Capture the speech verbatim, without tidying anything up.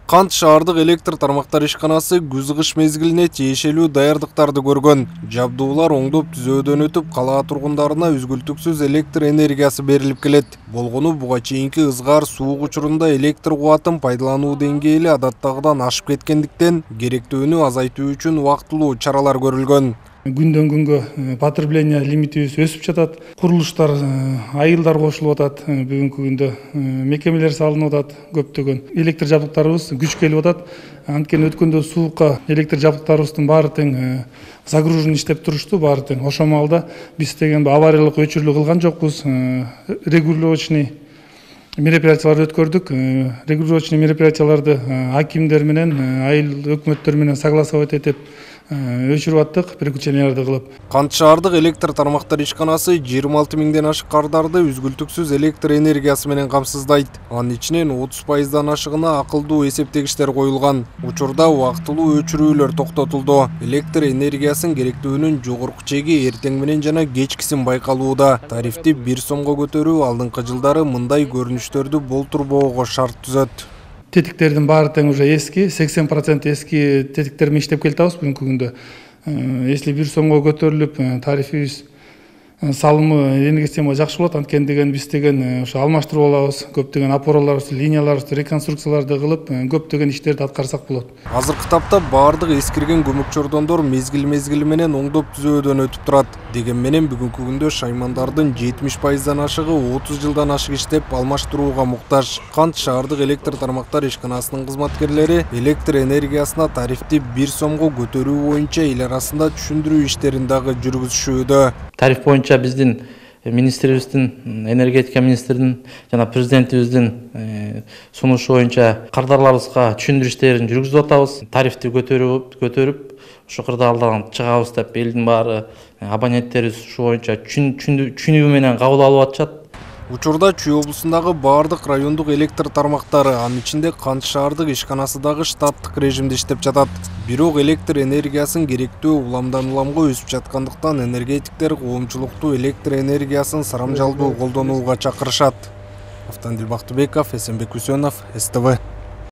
Кант шаардык электр тармактар ишканасы күз-кыш мезгилине тиешелүү даярдыктарды көргөн. Жабдуулар оңдоп түзөөдөн өтүп, калаа тургундарына үзгүлтүксүз электр энергиясы берилип келет. Болгону буга чейинки ызгаар суук учурунда электр кубатын пайдалануу деңгээли адаттагыдан ашып кеткендиктен керектөөнү азайтуу үчүн убактылуу чаралар көрүлгөн. Күндөн күнгө потребление лимитибиз өсүп жатат. Курулуштар, айылдар кошулуп атат. Бүгүнкү күндө мекемелер салынып атат көптөгөн. Электр жабдыктарыбыз күч келип атат. Анткени өткөндө суукка электр жабдыктарыбыздын баары тең загружен иштеп турушту, баары тең. Ошол маалда биз деген авариялык өчүрүлүү кылган жокпуз. Регулировочный мероприятияларды өткөрдүк. Регулировочный мероприятияларды акимдер менен, айыл өкмөттөр менен согласовать этип өчүрүп аттык, переключенияларды кылып. Кант шаардык электр тармактар ишканасы жыйырма алты миңден ашык кардарды үзгүлтүксүз электр энергиясы менен камсыздайт. Анын ичинен отуз пайыздан ашыгына акылдуу эсептегичтер коюлган. Учурда убактылуу өчүрүүлөр токтотулду. Электр энергиясынын керектөөнүн жогорку чеги эртең менен жана кечкисин байкалууда. Тарифти бир сомго көтөрүү алдыңкы жылдары мындай көрүнүштөрдү болтурбоого шарт түзөт. Тетиктердин баары тең уже эски, сексен процент эски тетиктер менен иштеп келатабыз бүгүнкү күндө. Если бир сомго көтөрүлүп, тарифибиз салымы энергия системага жакшы болот. Анткени деген биз деген ошо алмаштырып алабыз. Көптөгөн опораларыбызды, линияларыбызды реконструкцияларды кылып, көптөгөн иштерди аткарсак болот. Азыркы тапта баардык эскирген көмөк чордондор мезгил-мезгили менен оңдоп түзөөдөн өтүп турат. Деген менен бүгүнкү күндө шаймандардын жетимиш пайыздан ашыгы отуз жылдан ашык иштеп алмаштырууга муктаж. Кант шаардык электр тармактар ишканасынын кызматкерлери электр энергиясына тарифти бир сомго көтөрүү боюнча эл арасында түшүндүрүү иштерин дагы жүргүзүшүүдө. Тариф боюнча биздин министрибиздин, энергетика министринин жана президентибиздин сунушу боюнча кардарларыбызга түшүндүрүү иштерин жүргүзүп атабыз. Тарифти көтөрүп, көтөрүп, ушу кырдаалдан чыгабыз деп элдин баары, абоненттерибиз ушу боюнча түшүнүү менен кабыл алып атышат. Учурда Чүй облусундагы баардык райондук электр тармактары, анын ичинде Кант шаардык ишканасы дагы штаттык режимде иштеп жатат. Бирок электр энергиясын керектөө уламдан уламга өсүп жаткандыктан энергетиктер коомчулукту электр энергиясын сарамжалдуу колдонууга чакырышат. Автандил Бактыбеков, Эсенбек Үсөнов, С Т В.